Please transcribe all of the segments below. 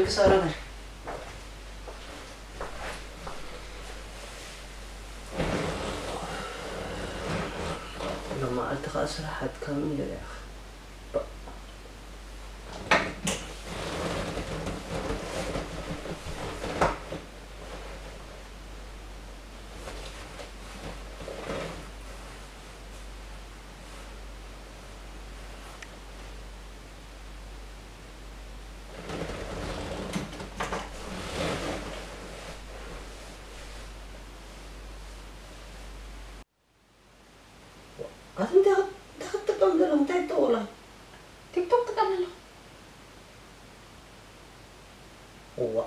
ክሳራ በል። ሎማዓልቲ ኸኣ ስራሕ ኣድካሚ ነይሩ። ኣቲ እንታይ ክት- እንታይ ክትጥቀም ዘለኹ? እንታይ ትጠውላ? ቲክቶክ ትጥቀም ኣለኹ። እዋ።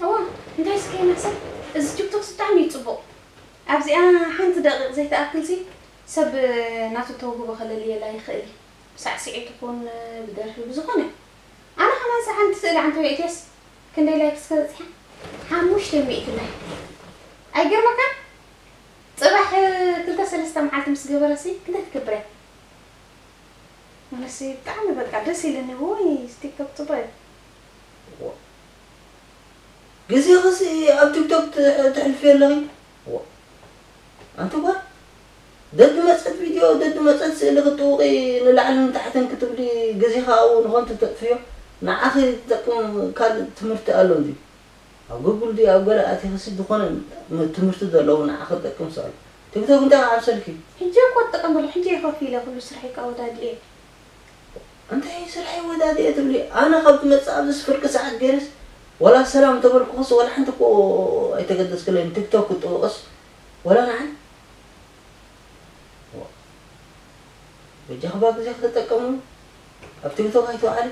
እዋ፣ እንታይ እስከ ይመስል? እዚ ቲክቶክ ብጣዕሚ እዩ ጽቡቕ። ኣብዚኣ ሓንቲ ደቂቕ ዘይትኣክል ሲ ሰብ ናቱ ተውህቦ ከለልየላ ይኽእል እዩ። ብሳዕስዒት ይኹን ብደርፊ ብዝኾነ። ኣነ ከማን ሰዓን ትስእሊ ኣንተ ቤትየስ ክንደይ ላይክ እስከ በጺሓ? ሓሙሽተ ሚእቲ ላይክ። ኣይገርመካን? ጽባሕ ክልተ ሰለስተ መዓልቲ ምስ ገበረሲ ክንደይ ትገብር እያ? ኣነሲ ብጣዕሚ በቃ ደስ ኢለኒ። ወይ ቲክቶክ ጽቡቕ እዩ። ዋ። ግዜኽሲ ኣብ ቲክቶክ ት- ተሕልፊ ኣለኺ? ዋ። ኣንቲ ጓል፣ ደድመጸት ቪድዮ፣ ደድመጸት ስእሊ ክትጥውቒ ንላዕልን ንታሕትን ክትብሊ ግዜኻ ኣብኡ ንኸንቱ ተጥፍዮ። ንዓኺ ዝጠቅም ካልእ ትምህርቲ ኣሎ እንድዩ። ኣብ ጉግል ድዩ ኣብ ገለ ኣቲኽሲ ዝኾነ ም- ትምህርቲ ዘለዎ ንዓኺ ዝጠቅም ኣሎ። ቲክቶክ እንታይ ኣብ ሰልኪ? ሕጂ እኮ ትጥቀም ዘሎ፣ ሕጂ እየ ከፊለ ኩሉ ስርሐይ ከኣ ወዳዲኤ። እንታይ ስርሐይ ወዳዲኤ ትብሊ? ኣነ ካብ ዝመጽእ ኣብዚስ ፍርቂ ሰዓት ገይረስ ዋላ ሰላም ተበልኩኽስ ዋላ ሓንቲ እኮ ኣይተገደስክለይን። ቲክቶክ ክጥውቕስ ዋላ ንዓይ። ዋ። በጃኽባ ግዜ ከተጠቀሙ ኣብ ቲክቶክ ኣይትውዓሊ።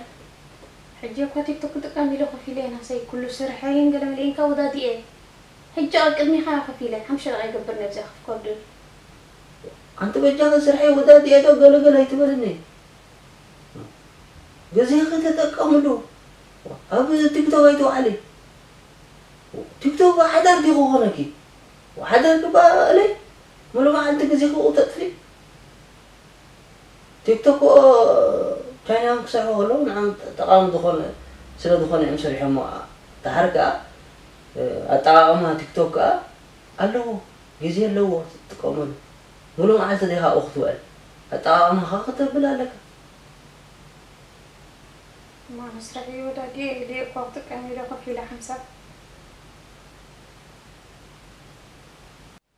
ሕጂ እኳ ቲክቶክ ክጥቀም ኢለ ኮፍ ኢለ ናሰይ ኩሉ ስርሐይን ገለመለይን ከወዳዲኤ። ሕጂ ኣብ ቅድሚኻ ኮፍ ኢለ ሓምሽተ ደቂቃ ይገብር ነብዚኣ ከፍ ከብድል። ኣንቲ በጃኺ ስርሐይ ወዳዲኤ ዶ ገለገለ ኣይትበልኒ። ግዜኺ ተጠቀምሉ። ኣብ ቲክቶክ ኣይትውዓሊ። ቲክቶክ ሓዳር ዲኹ ኮነኪ? ሓዳር ክበሃለይ? ሙሉ መዓልቲ ግዜኺ ተጥፊ? ቲክቶክ ቻይናውያን ክሰርሑ ከለዉ ንዓም ጠቃሚ ዝኾነ ስለ ዝኾነ እዮም ሰሪሖሞ። ደሓር ከኣ ኣጠቃቅማ ቲክቶክ ከኣ ኣለዎ፣ ግዜ ኣለዎ ትጥቀመሉ። ሙሉ መዓልቲ ዲኻ ኣብኡ ክትውዕል? ኣጠቃቅማኻ ክተብል ኣለካ። እማ መስርሒ ወዳዲኤ ኢለ እኳ ክጥቀም ኢለ ኮፍ ኢለ ሓንሳብ።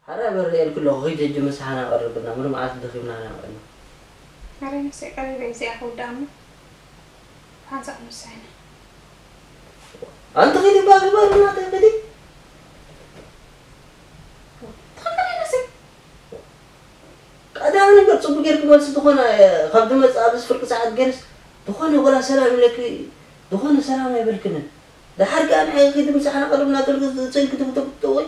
ሓራይ በሪ እየ ኢልኪ ኣለኹ፣ ኺዲ ሕጂ ምሳሕና ቀርብና፣ ሙሉ መዓልቲ ደኺምና ኢና ውዒልና። ኣረ ነብሰይ ቀሪበ እየ እዚኣ ክውድኣ እሞ ሓንሳብ ንሳይና። ኣንቲ ኺዲ ባሪ ባሪ ናተይ ኺዲ። ትኽክል እየ ነብሰይ። ቀዳሚ ነገር ጽቡቅ ጌርኪ መልሲ ዝኾነ ካብ ዝመጽእ ኣብዚ ፍርቂ ሰዓት ጌርስ ዝኾነ ወላ ሰላም ኢለኪ ዝኾነ ሰላም ኣይበልክንን። ደሓር ከኣ ንዓይ ኺዲ ምሳሕና ቀርብና ተልኪ ስእልኪ ትኽተብቶ ወይ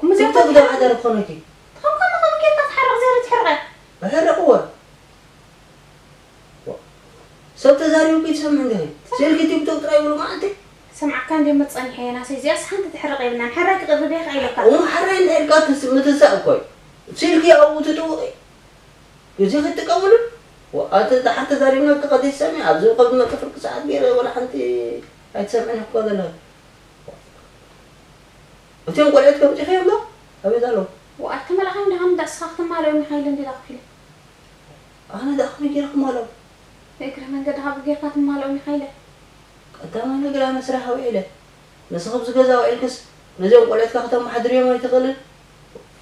ሙዚቃ ቲክቶክ ዶ ሓዳር ክኾነኪ? ትኽክል ከምኡ ጌርካ ትሓርቕ ዘሪ ትሕርቐ። ኣሕርቕዎ። ሰብ ተዛሪቡ ኪድ ሰምዕ እንዲኺ። ስእልኪ ቲክቶክ ጥራይ ብሉ መዓልቲ። ሰምዓካ እንዲ መጸኒሐ የናሰይ እዚኣስ ሓንቲ ትሕርቕ የብልናን። ሓራይ ክቕርብ እየ ከኣ ኢለካ። እሞ ሓራይ እንድሕር ካ ትስ- ምትሳእ እኮ እዩ። ስእልኪ ኣብኡ ትጥውቒ። ግዜ ክትጥቀምሉ። ወ- ኣቲ ደሓር ተዛሪብና ክቐዲስ ሰሚዕ ኣብዚ ከብዲ መጥፍርቂ ሰዓት ገይረ ወላ ሓንቲ ኣይትሰምዕን እኮ ዘለኺ። እቲኦም ቆልዑት ከምጺእኺ እዮም ዶ? ኣበይ ኣለዉ? ወኣት ተመላኻዮም ደሃም ዳስኻ ክትማልኦም ኢኻ ኢለ እንዲ ዳኽፊለ። ኣነ ደኣ ከመይ ገይረ ክማልኦም? ብእግረ መንገድኻ ብጌርካ ትማልኦም ኢኻ ኢለ። ቀዳማይ ነገር ኣነ ስራሕ ውዒለ። ንስኺ ኣብዚ ገዛ ውዒልክስ ነዚኦም ቆልዑትካ ከተመሓድርዮም ኣይትኽእልን?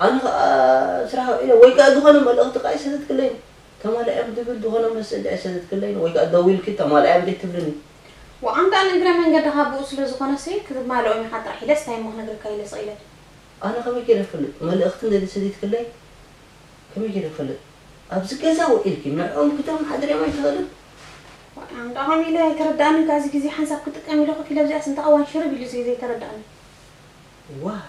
ኣነ ኸኣ ስራሕ ውዒለ ወይ ከኣ ዝኾነ መልእኽቲ ከኣ ኣይሰደድክለይን። ተማልኦም ዝብል ዝኾነ መሰጅ ኣይሰደድክለይን ወይ ከኣ ደዊልኪ ተማልኦም ዘይትብልኒ። ወኣንታ ንእግረ መንገድኻ ብኡ ስለ ዝኾነሲ ክትማልኦም ኢኻ ጥራሕ ኢለስ እንታይ እሞ ክነግረካ ኢለ ስቕ ኢለ። ኣነ ከመይ ገይረ ክፈልጥ? መልእኽቲ እንተ ዘይሰዲድክለይ ከመይ ገይረ ክፈልጥ? ኣብዚ ገዛ ውዒልኪ ንዕኦም ክተመሓድርዮም ኣይትኽእልን? ኣንታ ከምኡ ኢለ ኣይተረድኣንን፣ ካብዚ ግዜ ሓንሳብ ክጥቀም ኢለ ኮፍ ኢለ ኣብዚኣስ እንታይ እዋን ሽርብ ኢሉ ዘይ ዘይተረድኣኒ። ዋይ።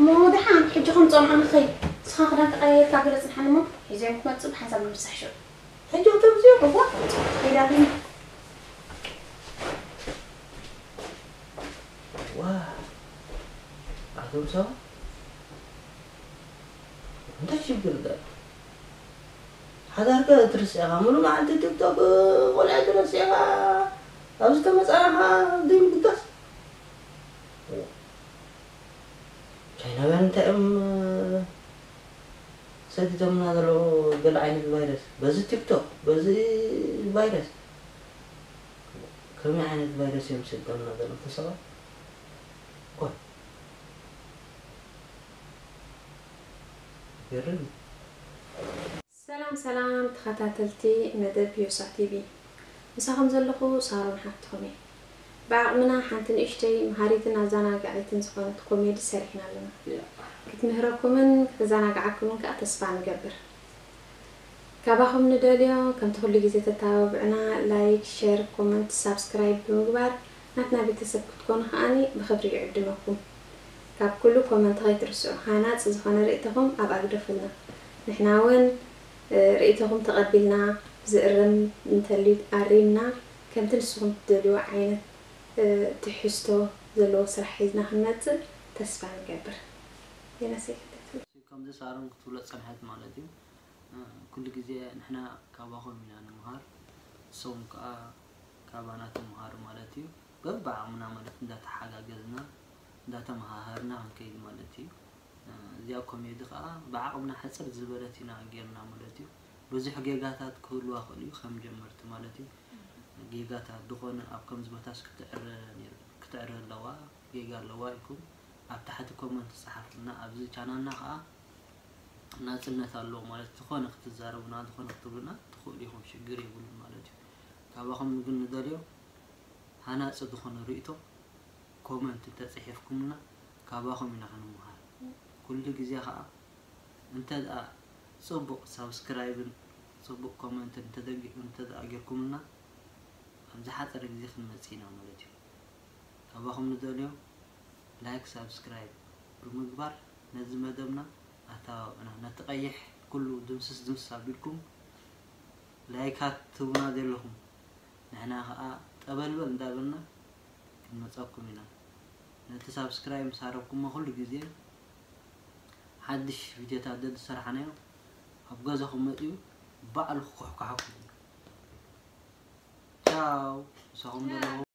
እሞ ደሓን ሕጂ ከምፅኦም ኣነ ኸይ ንስኻ ክዳን ተቀያየርካ ገለ ፅንሓኒ እሞ ሒዘዮም ክመፅእ ብሓንሳብ ንምሳሕ ሽዑ። ሕጂ ክተምፅዮ እዋ ኢላ ግን ዋ ኣቶም ሰባት እንታይ ሽግር ዳ ሓዳርካ ትርስዕኻ ሙሉ መዓልቲ ቲክቶክ ቆልዓ ትረሲዕኻ ኣብዚ ተመጻና ኸዓ ዘይምድጋፍ። ቻይናውያን እንታይ እዮም ሰዲዶምና ዘለዉ? ገለ ዓይነት ቫይረስ በዚ ቲክቶክ በዚ ቫይረስ ከመይ ዓይነት ቫይረስ እዮም ሰዲዶምና ዘለዉ? ተሰባ ቆይ ገርም። ሰላም ሰላም ተኸታተልቲ መደብ ዮሳ ቲቪ፣ ምሳኹም ዘለኹ ሳሮን ሓፍትኹም እየ። ብዓቕምና ሓንቲ ንእሽተይ መሃሪትን ኣዘናጋዒትን ዝኾነት ኮሜዲ ሰሪሕና ኣለና። ክትምህረኩምን ከተዘናግዓኩምን ከኣ ተስፋ ንገብር። ካባኹም ንደልዮ ከምቲ ኩሉ ግዜ ተተባብዑና ላይክ፣ ሸር፣ ኮመንት፣ ሳብስክራይብ ብምግባር ናትና ቤተሰብ ክትኮኑ ከኣኒ ብኽብሪ ይዕድመኩም። ካብ ኩሉ ኮመንት ከይትርስዑ፣ ሃናጺ ዝኾነ ርእይቶኹም ኣብኣ ግደፉልና። ንሕና እውን ርእይቶኹም ተቐቢልና ዝእረም እንተልዩ ኣሪምና ከምቲ ንስኹም ትደልይዎ ዓይነት ትሕዝቶ ዘለዎ ስራሕ ሒዝና ክንመጽእ ተስፋ ንገብር። ዮናሰይ ክትብል። ከምዚ ሳሮን ክትብሎ ዝጸንሐት ማለት እዩ። ኩሉ ግዜ ንሕና ካባኹም ኢና ንምሃር፣ ንስኹም ከኣ ካባና ትምሃሩ ማለት እዩ። በብዓቕምና ማለት እንዳተሓጋገዝና እንዳተመሃሃርና ክንከይድ ማለት እዩ። እዚኣ ኮሜዲ ከኣ ብዓቕምና ሕጽር ዝበለት ኢና ጌርና ማለት እዩ። ብዙሕ ጌጋታት ክህልዋ ይኽእሉ እዩ ከም ጀመርቲ ማለት እዩ። ጌጋታት ዝኾነ ኣብ ከምዚ ቦታስ ክትዕረ ነይሩ ክትዕረ ኣለዋ ጌጋ ኣለዋ ኢልኩም ኣብ ታሕቲ ኮመንት ጸሓፉልና። ኣብዚ ቻናልና ከኣ ናጽነት ኣለዎ ማለት ዝኾነ ክትዛረቡና ዝኾነ ክትብሉና ትኽእሉ ኢኹም ሽግር የብሉን ማለት እዩ። ካባኹም ግን ንደልዮ ሃናጺ ዝኾነ ርእይቶ ኮመንት እንተጽሒፍኩምልና ካባኹም ኢና ክንምሃር። ኩሉ ግዜ ከኣ እንተ ደኣ ጽቡቕ ሳብስክራይብን ጽቡቕ ኮመንትን እንተ ደኣ ጌርኩምልና ኣብ ዝሓጸረ ግዜ ክንመጽእ ኢና ማለት እዩ። ካባኹም ንደልዮ ላይክ ሳብስክራይብ ብምግባር ነዚ መደብና ኣተባብዑና። ነቲ ቀይሕ ኩሉ ድምስስ ድምስስ ኣቢልኩም ላይካት ትህቡና ዘለኹም ንሕና ከኣ ጠበልበል እንዳበልና ክንመጸኩም ኢና። ነቲ ሳብስክራይብ ምስ ሃረብኩሞ ኩሉ ግዜ ሓድሽ ቪድዮታት ዘዝሰራሕናዮ ኣብ ገዛኹም መጺኡ ባዕሉ ክኩሕኩሓኩም እዩ። ቻው ምሳኹም ዘለኹ